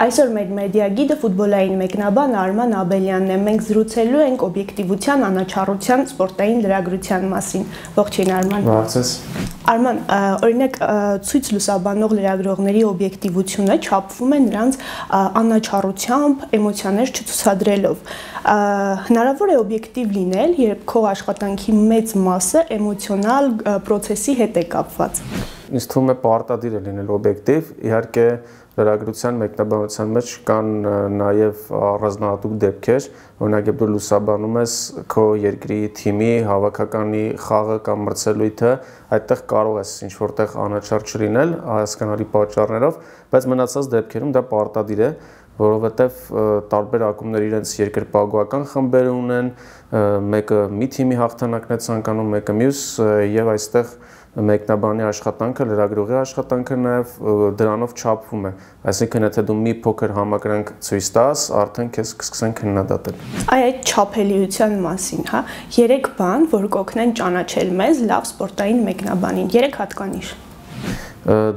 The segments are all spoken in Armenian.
Այսօր մեր մեդիագիդը ֆուտբոլային մեկնաբան Արման Աբելյանն է։ Մենք զրուցելու ենք օբյեկտիվության, անաչառության, սպորտային լրագրության մասին։ Ողջույն Արման։ Ողջույն։ Արման, օրինակ ցույց լուսաբանող լրագրողների օբյեկտիվությունը չափվում է նրանց անաչառությամբ, էմոցիաներ չցուցադրելով։ Հնարավոր է օբյեկտիվ լինել, երբ քո աշխատանքի մեծ մասը էմոցիոնալ process-ի հետ է կապված։ Ինձ թվում է պարտադիր է լինել օբյեկտիվ, իհարկե լրագրության մեկնաբանության մեջ կան նաև առանձնահատուկ դեպքեր, օրինակ երբ դու լուսաբանում ես քո երկրի թիմի հավաքականի խաղը կամ մրցելույթը, այդտեղ կարող ես ինչ որտեղ անաչառ չլինել հասկանալի պատճառներով, բայց մնացած դեպքերում դա պարտադիր է, որովհետև տարբեր ակումբներ իրենց երկրպագուական խմբեր ունեն, մեկը մի թիմի հաղթանակն է ցանկանում, մեկը մյուս, եւ այստեղ մեկնաբանի աշխատանքը, լրագրողի աշխատանքը նաև դրանով չափվում է, այսինքն եթե դու մի փոքր համակրանք ցույց տաս, արդեն քեզ կսկսեն քննադատել։ Այդ չափելիության մասին, հա, 3 բան, որ կօգնեն ճանաչել մեզ լավ սպորտային մեկնաբանին, 3 հատկանիշ։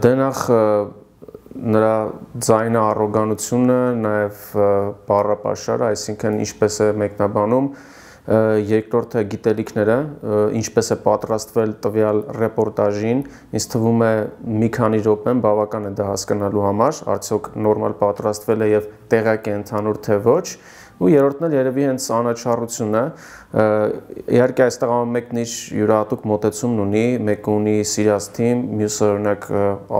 Դե նախ նրա ձայնը, առոգանությունը, նաև բառապաշարը, այսինքն ինչպես է մեկնաբանում, երկրորդը գիտելիքները, ինչպես է պատրաստվել տվյալ ռեպորտաժին, ինձ թվում է մի քանի րոպեն բավական է դա հասկանալու համար, արդյոք նորմալ պատրաստվել է եւ տեղակ է ընդհանուր թե ոչ, ու երրորդն էլ երևի հենց անաչառությունն է, իհարկե այստեղ ամեն ինչ յուրահատուկ մոտեցումն ունի, մեկը ունի սիրած թիմ, մյուսը օրինակ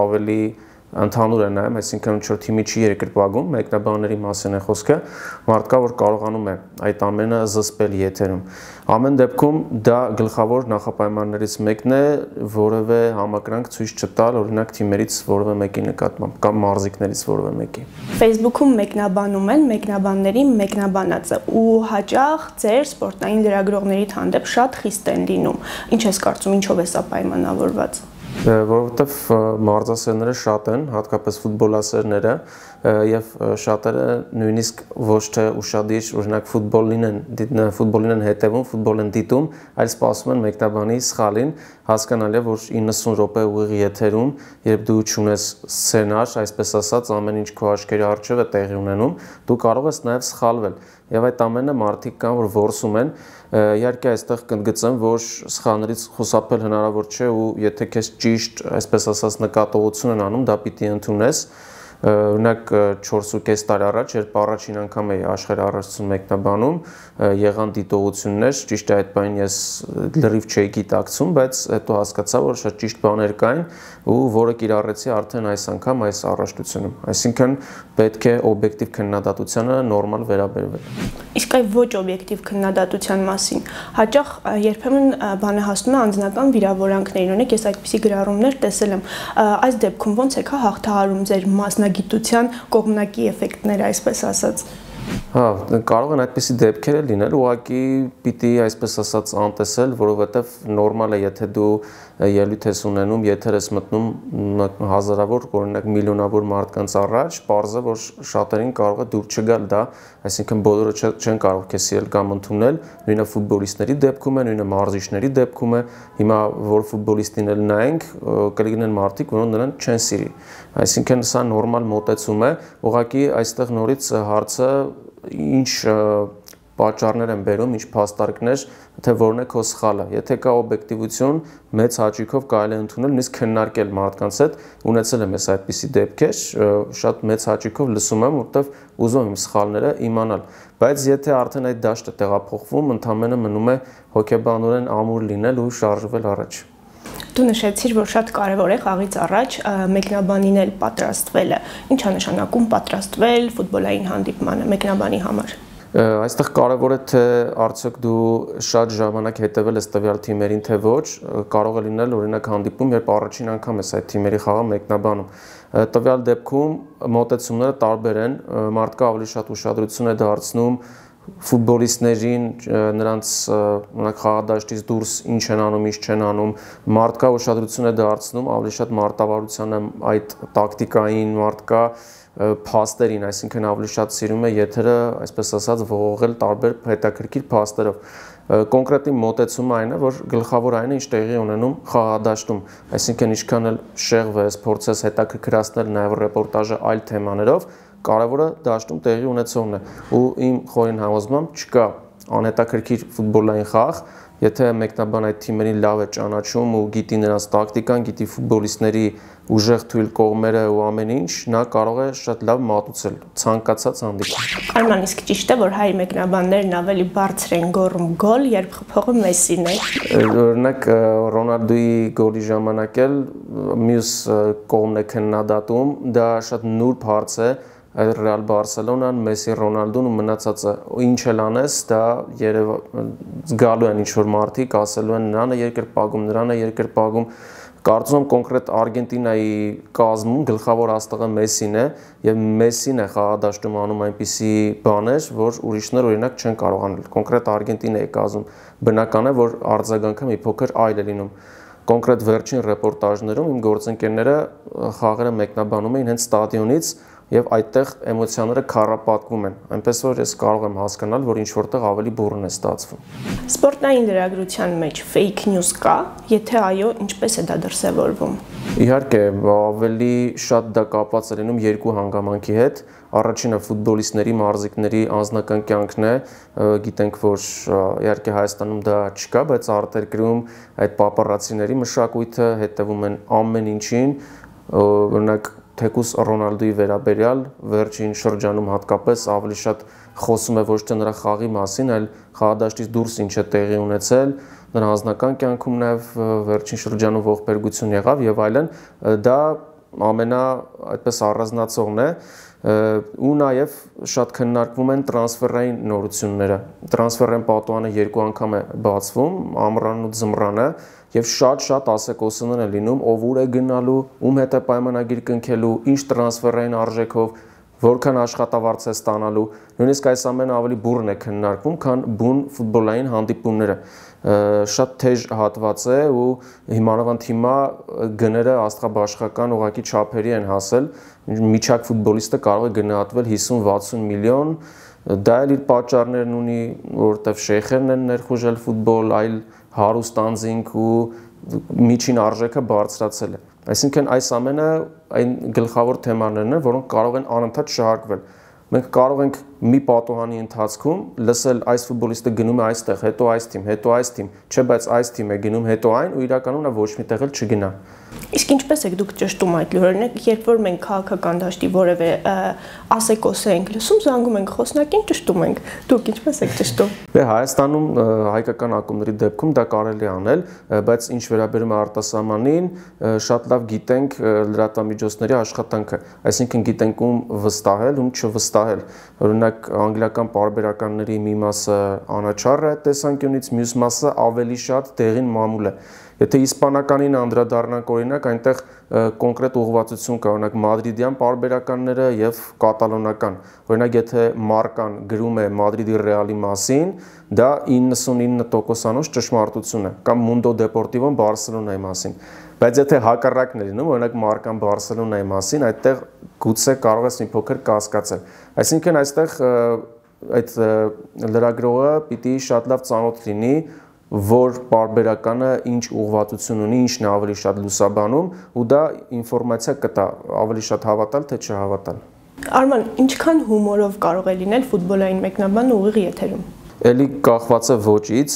ավելի ընդհանուր է նայում, այսինքն ինչ-որ թիմի չի երկրպագում, մեկնաբանների մասին է խոսքը, մարդկա, որ կարողանում է այդ ամենը զսպել եթերում։ Ամեն դեպքում դա գլխավոր նախապայմաններից մեկն է, որևէ համակրանք ցույց չտալ, օրինակ թիմերից որևէ մեկի նկատմամբ կամ մարզիկներից որևէ մեկի։ Facebook-ում մեկնաբանում են մեկնաբանների մեկնաբանածը ու հաճախ ձեր սպորտային լրագրողների հանդեպ շատ խիստ են լինում։ Ինչ ես կարծում, ինչով է սա պայմանավորված։ Որովհետև մարզասերները շատ են, հատկապես ֆուտբոլասերները, եւ շատերը նույնիսկ ոչ թե ուշադիր օրինակ ֆուտբոլին են հետևում, ֆուտբոլ են դիտում, այլ սպասում են մեկնաբանի սխալին, հասկանալի է, որ 90 րոպե ուղիղ եթերում, երբ դու չունես սցենար, այսպես ասած, ամեն ինչ քո աչքերի առջև է տեղի ունենում, դու կարող ես նաեւ սխալվել։ Եվ այդ ամենը մարդիկ կան, որ որսում են, իհարկե այստեղ կընդգծեմ, որ սխալներից խուսափել հնարավոր չէ ու եթե քեզ ճիշտ, այսպես ասած, նկատողություն են անում, դա պիտի ընդունես։ Օրինակ 4.5 տարի առաջ, երբ առաջին անգամ էի աշխարհի առաջին մեկնաբանում, եղան դիտողություններ, ճիշտ է այդ բանին ես լրիվ չէի գիտակցում, բայց հետո հասկացա, որ շատ ճիշտ բաներ կային ու որը կիրառեցի արդեն այս անգամ այս առաջնությունում։ Այսինքն պետք է օբյեկտիվ քննադատությանը նորմալ վերաբերվել։ Իսկ այ ոչ օբյեկտիվ քննադատության մասին հաճախ երբեմն բանը հասնում է անձնական վիրավորանքներին, ունեք ես այդպիսի գրառումներ տեսել եմ։ Այս դեպքում ոնց եք հաղթահարում ձեր մասնագիտության կողմնակի էֆեկտները, այսպես ասած։ Հա, կարող են այդպիսի դեպքեր լինել, ուղղակի պիտի այսպես ասած անտեսել, որովհետև նորմալ է, եթե դու ելույթ ես ունենում, եթեր ես մտնում հազարավոր, օրինակ միլիոնավոր մարդկանց առաջ, պարզ է, որ շատերին կարող է դուր չգալ դա, այսինքն բոլորը չեն կարող քեզ սիրել կամ ընդունել, նույնը ֆուտբոլիստների դեպքում է, նույնը մարզիչների դեպքում է, հիմա որ ֆուտբոլիստին էլ նայենք, կլինեն մարդիկ, որոնք նրան չեն սիրի։ Այսինքն սա նորմալ մոտեցում է, ուղղակի այստեղ նորից հարցը ինչ պատճառներ են բերում, ինչ փաստարկներ, թե որն է քո սխալը։ Եթե կա օբյեկտիվություն, մեծ հաճույքով կարելի է ընդունել, նույնիսկ քննարկել մարդկանց հետ, ունեցել եմ ես այդպիսի դեպքեր, շատ մեծ հաճույքով լսում եմ, որտեվ ուզում եմ սխալները իմանալ։ Բայց եթե արդեն այդ դաշտը տեղափոխվում, ընդամենը մնում է հոգեբանորեն ամուր լինել ու շարժվել առաջ։ Դու նշեցիր, որ շատ կարևոր է խաղից առաջ մեկնաբանին էլ պատրաստվելը։ Ինչ է նշանակում պատրաստվել ֆուտբոլային հանդիպմանը մեկնաբանի համար։ Այստեղ կարևոր է թե արդյոք դու շատ ժամանակ հետևել ես տվյալ թիմերին թե ոչ, կարող է լինել օրինակ հանդիպում, երբ առաջին անգամ ես այդ թիմերի խաղը մեկնաբանում։ Տվյալ դեպքում մոտեցումները տարբեր են, մարդկա ավելի շատ ուշադրություն է դարձնում ֆուտբոլիստներին, նրանց խաղադաշտից դուրս ինչ են անում, ինչ չեն անում, մարդկա ուշադրություն է դարձնում ավելի շատ մարտավարությանը, այդ տակտիկային, մարդկա փաստերին, այսինքն ավելի շատ սիրում է եթերը, այսպես ասած, ողողել տարբեր հետաքրքիր փաստերով։ Կոնկրետ իմ մոտեցումը այն է, որ գլխավոր այն է, ինչ տեղի ունենում խաղադաշտում, այսինքն ինչքան էլ շեղվես, փորձես հետաքրքրացնել նաև ռեպորտաժը այլ թեմաներով, կարևորը դաշտում տեղի ունեցողն է ու իմ խորին համոզմամբ չկա անհետաքրքիր ֆուտբոլային խաղ, եթե մեկնաբան այդ թիմերին լավ է ճանաչում ու գիտի նրանց տակտիկան, գիտի ֆուտբոլիստների ուժեղ թույլ կողմերը ու ամեն ինչ, նա կարող է շատ լավ մատուցել ցանկացած հանդիպում։ Արման, իսկ ճիշտ է, որ հայ մեկնաբաններն ավելի բարձր են գոռում գոլ, երբ խփողը Մեսսին է։ Օրինակ Ռոնալդոյի գոլի ժամանակ էլ մյուս կողմն է քննադատում, դա շատ նուրբ հարց է։ Ռեալ Բարսելոնան, Մեսսի, Ռոնալդոն ու մնացածը ինչ էլ անես, դա զգալու են ինչ-որ մարդիկ, ասելու են նրան է երկրպագում, նրան է երկրպագում։ Կարծում եմ կոնկրետ Արգենտինայի կազմում գլխավոր աստղը Մեսսին է եւ Մեսսին է խաղադաշտում անում այնպիսի բաներ, որ ուրիշներ օրինակ չեն կարող անել։ Կոնկրետ Արգենտինայի կազում բնական է, որ արձագանքը մի փոքր այլ է լինում։ Կոնկրետ վերջին ռեպորտաժներում իմ գործընկերները խաղերը մեկնաբանում էին հենց ստադիոնից եւ այդտեղ էմոցիաները քառապատկվում են, այնպես որ ես կարող եմ հասկանալ, որ ինչ որտեղ ավելի բուռն է ստացվում։ Սպորտային լրագրության մեջ fake news կա, եթե այո, ինչպես է դա դրսևորվում։ Իհարկե, ավելի շատ դա կապված է լինում երկու հանգամանքի հետ։ Առաջինը ֆուտբոլիստների, մարզիկների անձնական կյանքն է, գիտենք, որ իհարկե Հայաստանում դա չկա, բայց արտերկրում այդ պապարացիների մշակույթը հետևում են ամեն ինչին, օրինակ թեկուս Ռոնալդոյի վերաբերյալ վերջին շրջանում հատկապես ավելի շատ խոսում է ոչ թե նրա խաղի մասին, այլ խաղադաշտից դուրս ինչ է տեղի ունեցել, նրա անձնական կյանքում նաև վերջին շրջանում ողբերգություն եղավ եւ այլն, դա ամենա այդպես առանձնացողն է ու նաև շատ քննարկվում են տրանսֆերային նորությունները։ Տրանսֆերային պատուհանը երկու անգամ է բացվում, ամռանն ու ձմռանը, եւ շատ ասեկոսներ են լինում, ով ուր է գնալու, ում հետ է պայմանագիր կնքելու, ինչ տրանսֆերային արժեքով, որքան աշխատավարձ է ստանալու, նույնիսկ այս ամենը ավելի բուռն է քննարկվում, քան բուն ֆուտբոլային հանդիպումները։ Շատ թեժ հատված է ու հիմնավորված հիմա գները աստղաբաշխական ուղղակի չափերի են հասել, միջակ ֆուտբոլիստը կարող է գնահատվել 50-60 միլիոն, դա էլ իր պատճառներն ունի, որովհետև շեյխերն են ներխուժել ֆուտբոլ, այլ հարուստ անձինք ու միջին արժեքը բարձրացել է։ Այսինքն այս ամենը այն գլխավոր թեմաներն են, որոնք կարող են անընդհատ շահարկվել։ Մենք կարող ենք մի պատուհանի ընթացքում լսել այս ֆուտբոլիստը գնում է այստեղ, հետո այս թիմ, հետո այս թիմ, չէ, բայց այս թիմ է գնում, հետո այն ու իրականում նա ոչ մի տեղ էլ չգնա։ Իսկ ինչպես եք դուք ճշտում այդ լուրերն, երբ որ մենք քաղաքական դաշտի որևէ ասեկոս ենք լսում, զանգում ենք խոսնակին, ճշտում ենք։ Դուք ինչպես եք ճշտում։ Դե Հայաստանում հայկական ակումբների դեպքում դա կարելի է անել, բայց ինչ վերաբերում է արտասահմանին, շատ լավ գիտենք լրատվամիջոցների աշխատանքը, այսինքն գիտենք ում վստահել, ում չվստահել։ Օրինակ անգլիական պարբերականների մի մասը անաչառ է տեսանկյունից, մյուս մասը ավելի շատ դեղին մամուլ է։ Եթե իսպանականին անդրադառնանք օրինակ, այնտեղ կոնկրետ ուղղվածություն կա, օրինակ մադրիդյան պարբերականները եւ կատալոնական։ Օրինակ եթե Մարկան գրում է Մադրիդի Ռեալի մասին, դա 99%-անոց ճշմարտություն է, կամ Mundo Deportivo-ն Բարսելոնայի մասին։ Բայց եթե հակառակն է լինում, օրինակ Մարկան Բարսելոնայի մասին, այդտեղ գուցե կարող ես մի փոքր կասկածել։ Այսինքն այստեղ այդ լրագրողը պիտի շատ լավ ծանոթ լինի, որ պարբերականը ինչ ուղղվածություն ունի, ինչն է ավելի շատ լուսաբանում ու դա ինֆորմացիա կտա ավելի շատ հավատալ թե չհավատալ։ Արման, ինչքան հումորով կարող է լինել ֆուտբոլային մեկնաբանը ուղիղ եթերում։ Էլի կախված է ոճից,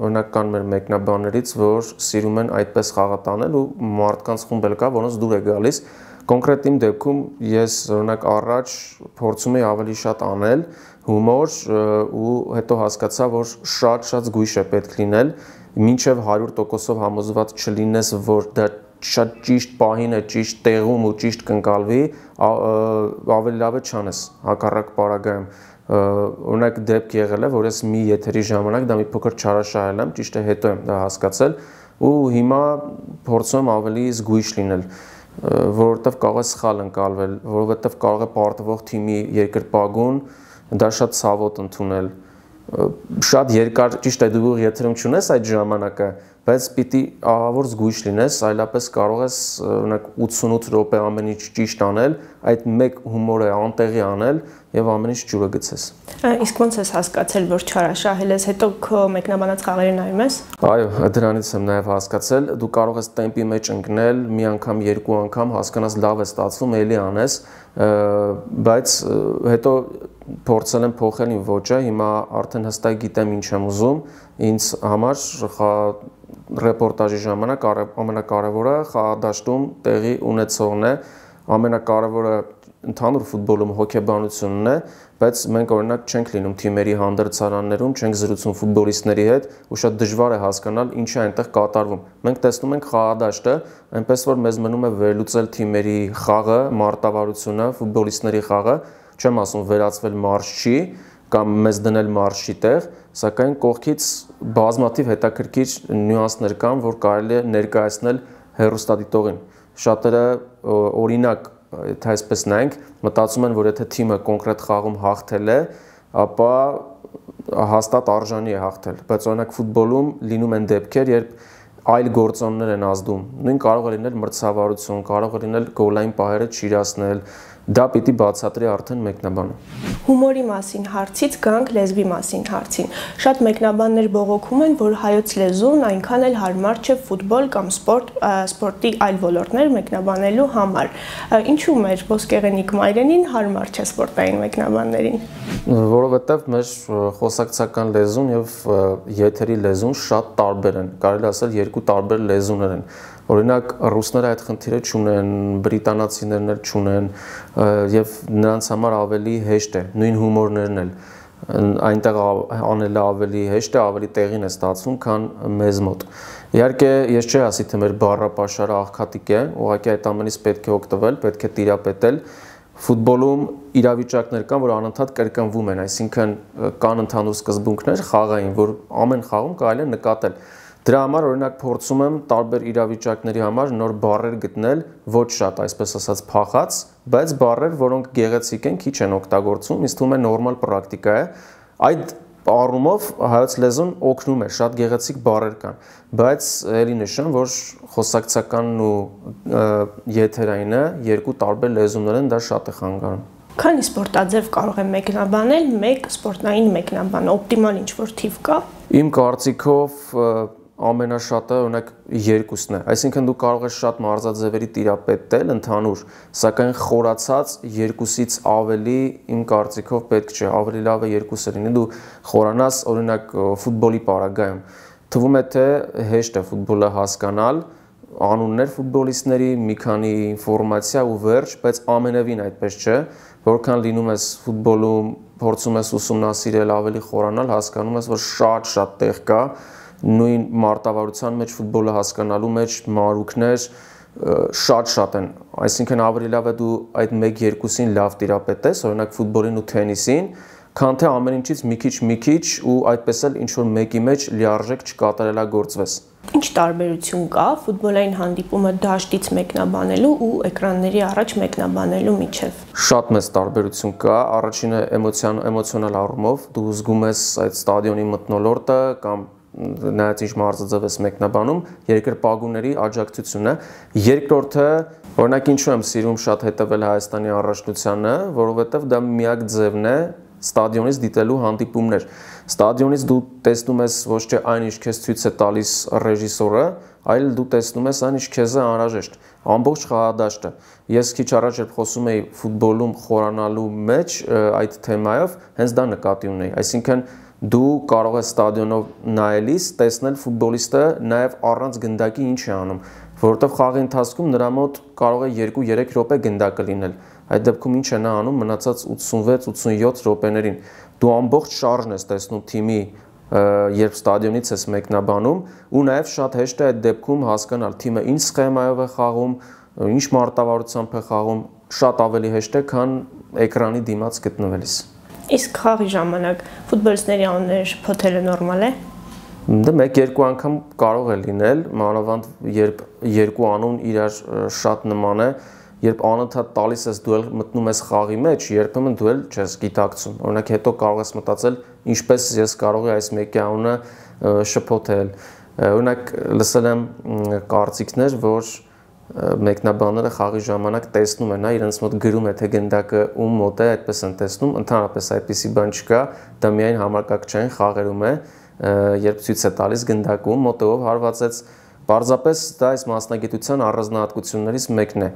օրինակ կան մեր մեկնաբաններից, որ սիրում են այդպես խաղատանել ու մարդկանց խումբ էլ կա, որոնց դուր է գալիս։ Կոնկրետ իմ դեպքում ես օրինակ առաջ փորձում եի ավելի շատ անել հումոր ու հետո հասկացա, որ շատ զգույշ է պետք լինել, մինչև 100%-ով համոզված չլինես, որ դա շատ ճիշտ պահին է, ճիշտ տեղում ու ճիշտ կընկալվի, ավելի լավ է չանես, հակառակ պարագայում։ Օրինակ դեպք եղել է, որ ես մի եթերի ժամանակ դա մի փոքր չարաշահել եմ, ճիշտ է հետո եմ դա հասկացել ու հիմա փորձում եմ ավելի զգույշ լինել, որովհետև կարող է սխալ ընկալվել, որովհետև կարող է պարտվող թիմի երկրպագուն դա շատ ցավոտ ընդունել։ Շատ երկար, ճիշտ է, դու եթերում չունես այդ ժամանակը, բայց պիտի ահավոր զգույշ լինես, այլապես կարող ես օրինակ 88 րոպե ամեն ինչ ճիշտ անել, այդ մեկ հումորը անտեղի անել եւ ամեն ինչ ջուրը գցես։ Իսկ ոնց ես հասկացել, որ չարաշահել ես, հետո քո մեկնաբանած խաղերը նայում ես։ Այո, դրանից եմ նաեւ հասկացել, դու կարող ես տեմպի մեջ ընկնել, մի անգամ, երկու անգամ հասկանաս լավ է ստացվում, էլի անես, բայց հետո փորձել եմ փոխել իմ ոճը, հիմա արդեն հստակ գիտեմ ինչ եմ ուզում, ինձ համար ռեպորտաժի ժամանակ ամենակարևորը խաղադաշտում տեղի ունեցողն է, ամենակարևորը ընդհանուր ֆուտբոլում հոգեբանությունն է, բայց մենք օրինակ չենք լինում թիմերի հանդերձարաններում, չենք զրուցում ֆուտբոլիստների հետ, ու շատ դժվար է հասկանալ ինչ է այնտեղ կատարվում։ Մենք տեսնում ենք խաղադաշտը, այնպես որ մեզ մնում է վերլուծել թիմերի խաղը, մարտավարությունը, ֆուտբոլիստների խաղը, չեմ ասում վերածվել մարշչի կամ մեզ դնել մարշչի տեղ, սակայն կողքից բազմաթիվ հետաքրքիր նյուանսներ կան, որ կարելի է ներկայացնել հեռուստադիտողին։ Շատերը օրինակ, եթե այսպես նայենք, մտածում են, որ եթե թիմը կոնկրետ խաղում հաղթել է, ապա հաստատ արժանի է հաղթել, բայց օրինակ ֆուտբոլում լինում են դեպքեր, երբ այլ գործոններ են ազդում։ Նույն կարող է լինել մրցավարություն, կարող է լինել գոլային պահերը չիրացնել, դա պիտի բացատրի արդեն մեկնաբանը։ Հումորի մասին հարցից գանք լեզվի մասին հարցին։ Շատ մեկնաբաններ բողոքում են, որ հայոց լեզուն այնքան էլ հարմար չէ ֆուտբոլ կամ սպորտի այլ ոլորտներ մեկնաբանելու համար։ Ինչու մեր ոսկեղենիկ մայրենին հարմար չէ սպորտային մեկնաբաններին։ Որովհետև մեր խոսակցական լեզուն եւ եթերի լեզուն շատ տարբեր են։ Կարելի ասել երկու տարբեր լեզուներ են։ Օրինակ ռուսները այդ խնդիրը չունեն, բրիտանացիներն էլ չունեն եւ նրանց համար ավելի հեշտ է, նույն հումորներն էլ այնտեղ անելը ավելի հեշտ է, ավելի տեղին է ստացվում, քան մեզ մոտ։ Իհարկե, ես չի ասի, թե մեր բառապաշարը աղքատիկ է, ուղղակի այդ ամենից պետք է օգտվել, պետք է տիրապետել։ Ֆուտբոլում իրավիճակներ կան, որ անընդհատ կրկնվում են, այսինքն կան ընդհանուր սկզբունքներ խաղային, որ ամեն խաղում կարելի է նկատել։ Դրա համար օրինակ փորձում եմ տարբեր իրավիճակների համար նոր բառեր գտնել, ոչ շատ, այսպես ասած, փախած, բայց բառեր, որոնք գեղեցիկ են, քիչ են օգտագործվում, ինձ թվում է նորմալ պրակտիկա է։ Այդ առումով հայոց լեզուն օգնում է, շատ գեղեցիկ բառեր կան, բայց ելի նշեմ, որ խոսակցականն ու եթերայինը երկու տարբեր լեզուներ են, դա շատ է խանգարում։ Քանի սպորտաձև կարող է մեկնաբանել մեկ սպորտային մեկնաբան, օպտիմալ ինչ-որ թիվ կա։ Իմ կարծիքով ամենաշատը օրինակ երկուսն է, այսինքն դու կարող ես շատ մարզաձևերի տիրապետել ընդհանուր, սակայն խորացած երկուսից ավելի իմ կարծիքով պետք չէ, ավելի լավ է երկուսը լինի, դու խորանաս օրինակ ֆուտբոլի պարագայում, թվում է թե հեշտ է ֆուտբոլը հասկանալ, անուններ ֆուտբոլիստների, մի քանի ինֆորմացիա ու վերջ, բայց ամենևին այդպես չէ, որքան լինում ես ֆուտբոլում, փորձում ես ուսումնասիրել, ավելի խորանալ, հասկանում ես, որ շատ տեղ կա նույն մարտավարության մեջ ֆուտբոլը հասկանալու մեջ մարուկներ շատ են, այսինքն ավելի լավ է դու այդ 1-2-ին լավ տիրապետես, օրինակ ֆուտբոլին ու թենիսին, քան թե ամեն ինչից մի քիչ ու այդպես էլ ինչ-որ մեկի մեջ լիարժեք չկատարելագործվես։ Ինչ տարբերություն կա ֆուտբոլային հանդիպումը դաշտից մեկնաբանելու ու էկրանների առաջ մեկնաբանելու միջև։ Շատ մեծ տարբերություն կա, առաջինը էմոցիոնալ առումով, դու զգում ես այդ ստադիոնի մթնոլորտը կամ նայած ինչ մարզաձև ես մեկնաբանում, երկրպագուների աջակցությունը, երկրորդը, օրինակ ինչու եմ սիրում շատ հետևել Հայաստանի առաջնությանը, որովհետև դա միակ ձևն է ստադիոնից դիտելու հանդիպումներ։ Ստադիոնից դու տեսնում ես ոչ թե այն ինչ քեզ ցույց է տալիս ռեժիսորը, այլ դու տեսնում ես այն ինչ քեզ է անհրաժեշտ, ամբողջ խաղադաշտը։ Ես քիչ առաջ երբ խոսում էի ֆուտբոլում խորանալու մեջ այդ թեմայով, հենց դա նկատի ունեի, այսինքն դու կարող ես ստադիոնով նայելիս տեսնել ֆուտբոլիստը նաև առանց գնդակի ինչ է անում, որովհետև խաղի ընթացքում նրա մոտ կարող է 2-3 րոպե գնդակը լինել։ Այդ դեպքում ինչ է նա անում մնացած 86-87 րոպեներին։ Դու ամբողջ շարժն ես տեսնում թիմի, երբ ստադիոնից ես մեկնաբանում, ու նաև շատ հեշտ է այդ դեպքում հասկանալ թիմը ինչ սխեմայով է խաղում, ինչ մարտավարությամբ է խաղում, շատ ավելի հեշտ է, քան էկրանի դիմաց գտնվելիս։ Իսկ խաղի ժամանակ ֆուտբոլիստների անունները շփոթելը նորմալ է։ Դա 1-2 անգամ կարող է լինել, մանավանդ երբ երկու անուն իրար շատ նման է, երբ անընդհատ տալիս ես դու մտնում ես խաղի մեջ, երբեմն դու չես գիտակցում։ Օրինակ հետո կարող ես մտածել, ինչպես ես կարող եմ այս մեկի անունը շփոթել։ Օրինակ լսել եմ կարծիքներ, որ մեկնաբանները խաղի ժամանակ տեսնում են, իրենց մոտ գրում է, թե գնդակը ում մոտ է, այդպես են տեսնում, ընդհանրապես այդպիսի բան չկա, դա միայն համակարգչային խաղերում է, երբ ցույց է տալիս գնդակը ում մոտ է, ով հարվածեց։ Պարզապես դա այս մասնագիտության առանձնահատկություններից մեկն է։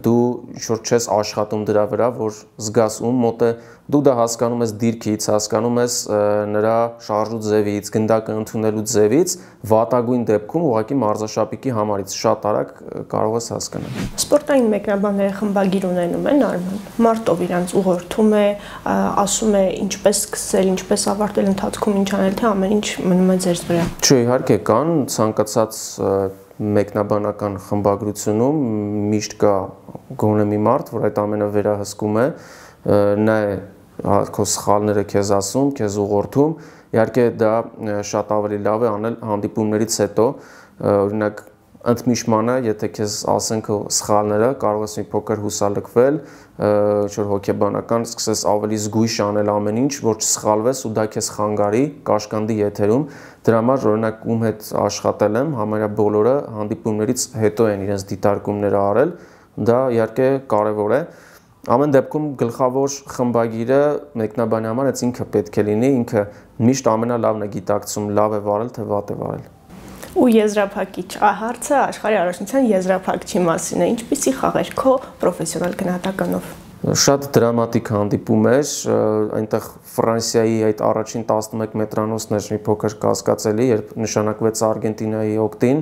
Դու ինչ-որ չես աշխատում դրա վրա, որ զգաս ում մոտ է, դու դա հասկանում ես դիրքից, հասկանում ես նրա շարժու ձևից, գնդակը ընդունելու ձևից, վատագույն դեպքում ուղղակի մարզաշապիկի համարից շատ արագ կարող ես հասկանալ։ Սպորտային մեկնաբանները խմբագիր ունենում են Արման։ Մարտով իրանց ուղղորդում է, ասում է ինչպես սկսել, ինչպես ավարտել, ընթացքում ինչ անել, թե ամեն ինչ մնում է ձեզ վրա։ Չէ, իհարկե կան ցանկացած մեկնաբանական խմբագրությունում միշտ կա գոնե մի մարդ, որ այդ ամենը վերահսկում է, նա է քո սխալները քեզ ասում, քեզ ուղղորդում, իհարկե դա շատ ավելի լավ է անել հանդիպումներից հետո, օրինակ ընդմիջմանը, եթե քեզ ասեն քո սխալները, կարող ես մի փոքր հուսալքվել, ինչ-որ հոգեբանական սկսես ավելի զգույշ անել ամեն ինչ, որ չսխալվես ու դա քեզ խանգարի, կաշկանդի եթերում, դրա համար օրինակ ում հետ աշխատել եմ, համարյա բոլորը հանդիպումներից հետո են իրենց դիտարկումները արել, դա իհարկե կարևոր է։ Ամեն դեպքում գլխավոր խմբագիրը մեկնաբանի համար այս ինքը պետք է լինի, ինքը միշտ ամենալավն է գիտակցում, լավ է վարել, թե վատ է վարել։ Ու եզրափակիչ, հարցը աշխարհի առաջնության եզրափակչի մասին է, ինչպիսի խաղեր քո պրոֆեսիոնալ գնահատականով։ Շատ դրամատիկ հանդիպում էր, այնտեղ Ֆրանսիայի այդ առաջին 11 մետրանոցն էր մի փոքր կասկածելի, երբ նշանակվեց Արգենտինայի օգտին,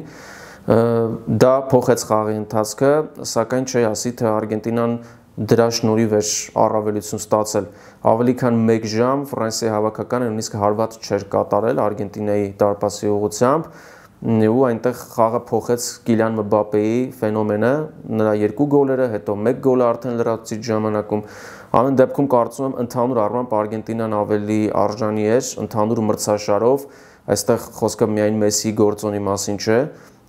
դա փոխեց խաղի ընթացքը, սակայն չի ասի, թե Արգենտինան դրա շնորհիվ էր առավելություն ստացել։ Ավելի քան 1 ժամ Ֆրանսիայի հավաքականը նույնիսկ հարված չէր կատարել Արգենտինայի դարպասի ուղղությամբ, ու այնտեղ խաղը փոխեց Կիլիան Մբապեի ֆենոմենը, նրա 2 գոլերը, հետո 1 գոլը արդեն լրացուցիչ ժամանակում։ Ամեն դեպքում կարծում եմ ընդհանուր առմամբ Արգենտինան ավելի արժանի էր, ընդհանուր մրցաշարով, այստեղ խոսքը միայն Մեսսիի գործոնի մասին չէ,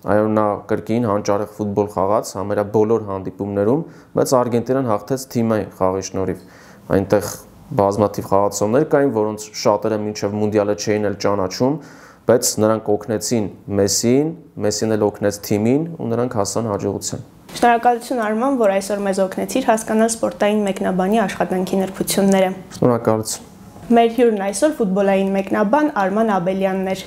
այո նա կրկին հանճարեղ ֆուտբոլ խաղաց համարյա բոլոր հանդիպումներում, բայց Արգենտինան հաղթեց թիմային խաղի շնորհիվ։ Այնտեղ բազմաթիվ խաղացողներ կային, որոնց շատերը մինչև մունդիալը չէին էլ ճանաչում, բայց նրանք օգնեցին Մեսսիին, Մեսսին էլ օգնեց թիմին ու նրանք հասան հաջողության։ Շնորհակալություն Արման, որ այսօր մեզ օգնեցիր հասկանալ սպորտային մեկնաբանի աշխատանքի նրբությունները։ Շնորհակալություն։ Մեր հյուրն այսօր ֆուտբոլային մեկնաբան Արման Աբելյանն էր։